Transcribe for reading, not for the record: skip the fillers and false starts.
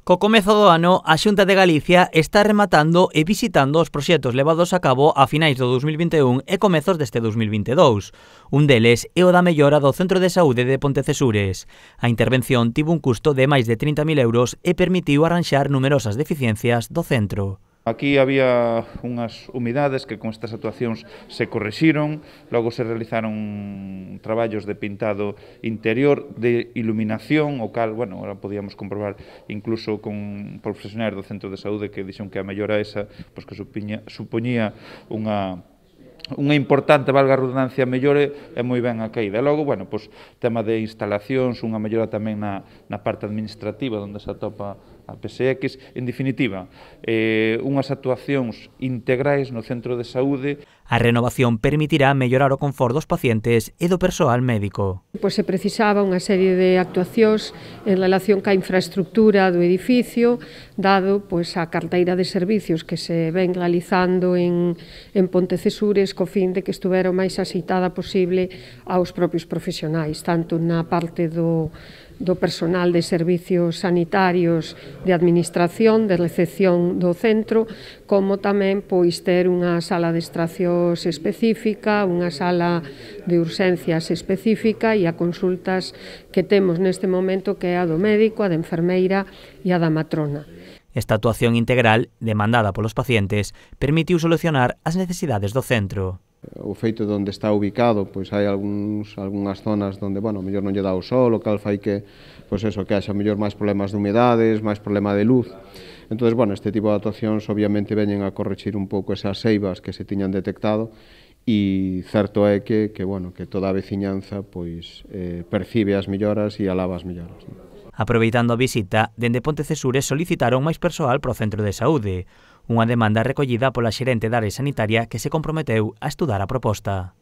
Co comezo do ano, a Xunta de Galicia está rematando e visitando os proxectos levados a cabo a finais do 2021 e comezos deste 2022. Un deles é o da mellora do Centro de Saúde de Pontecesures. A intervención tivo un custo de máis de 30.000 euros e permitiu arranxar numerosas deficiencias do centro. Aquí había unhas humidades que con estas actuacións se correxiron, logo se realizaron traballos de pintado interior, de iluminación, o cal, bueno, ahora podíamos comprobar incluso con profesionais do centro de saúde que dixen que a mellora esa, pois que supoñía unha importante, valga a redundancia, mellore e moi ben a caída. E logo, bueno, pois, tema de instalacións, unha mellora tamén na parte administrativa, onde se atopa a PSX, en definitiva, unhas actuacións integrais no centro de saúde. A renovación permitirá mellorar o confort dos pacientes e do persoal médico. Pois se precisaba unha serie de actuacións en relación ca infraestructura do edificio, dado pois a carteira de servicios que se ven realizando en Pontecesures co fin de que estuvera o máis axeitada posible aos propios profesionais, tanto na parte do personal de servicios sanitarios, de administración, de recepción do centro, como tamén pois ter unha sala de extraccións específica, unha sala de urxencias específica e a consultas que temos neste momento, que é a do médico, a da enfermeira e a da matrona. Esta actuación integral, demandada polos pacientes, permitiu solucionar as necesidades do centro. O feito de onde está ubicado, pois hai algunhas zonas onde, bueno, mellor non lle dá o sol, o cal fai que, pois eso, que haxa mellor máis problemas de humedades, máis problema de luz. Entón, bueno, este tipo de actuacións obviamente veñen a correxir un pouco esas seivas que se tiñan detectado e certo é que bueno, que toda a veciñanza pois percibe as melloras e alaba as melloras. Aproveitando a visita, dende Pontecesures solicitaron máis persoal para o centro de saúde, unha demanda recollida pola xerente da área sanitaria que se comprometeu a estudar a proposta.